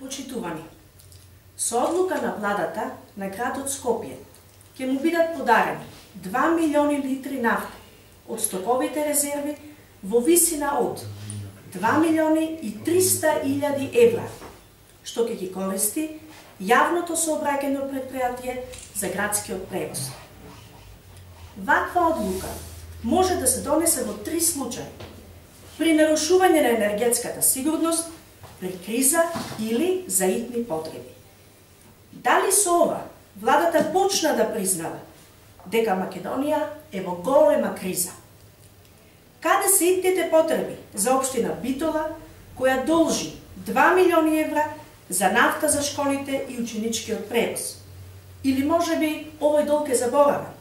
Почитувани, со одлука на владата на градот Скопје ќе му бидат подарени 2 милиони литри нафта од стоковите резерви во висина од 2 милиони и 300 илјади евра, што ќе ги користи јавното сообраќајно претпријатие за градскиот превоз. Ваква одлука може да се донесе во 3 случаи: при нарушување на енергетската сигурност, при криза или за итни потреби. Дали со ова владата почна да признава дека Македонија е во голема криза? Каде се итните потреби за општина Битола, која должи 2 милиони евра за нафта за школите и ученичкиот превоз? Или можеби овој долг е заборавен?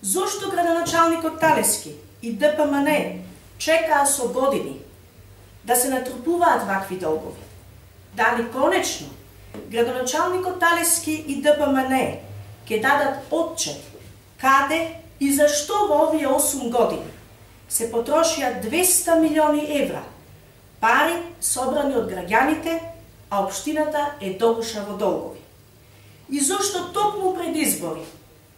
Зошто градоначалникот Талески и ДПМН чекаа со години да се натрупуваат вакви долгови? Дали конечно градоначалникот Талески и ДПМН ќе дадат отчет каде и зашто во овие 8 години се потрошија 200 милиони евра, пари собрани од граѓаните, а општината е догуша во долгови? И зошто токму пред избори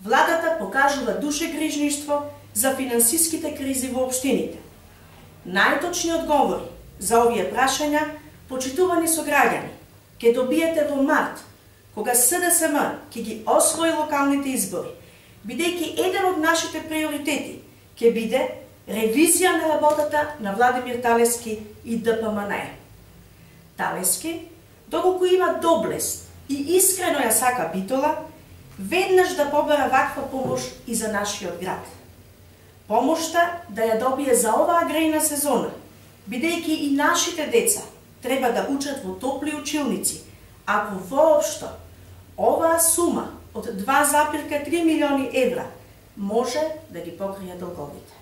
владата покажува душегрижништво за финансиските кризи во општините? Најточни одговори за овие прашања, почитувани сограѓани, ќе добиете во март, кога СДСМ ќе ги освои локалните избори, бидејќи еден од нашите приоритети ќе биде ревизија на работата на Владимир Талески и ДПМН. Талески, доколку има доблест и искрено ја сака Битола, веднаш да побара ваква помош и за нашиот град. Помошта да ја добие за оваа грејна сезона, бидејќи и нашите деца треба да учат во топли училници, ако воопшто оваа сума од 2,3 милиони евра може да ги покрие долговите.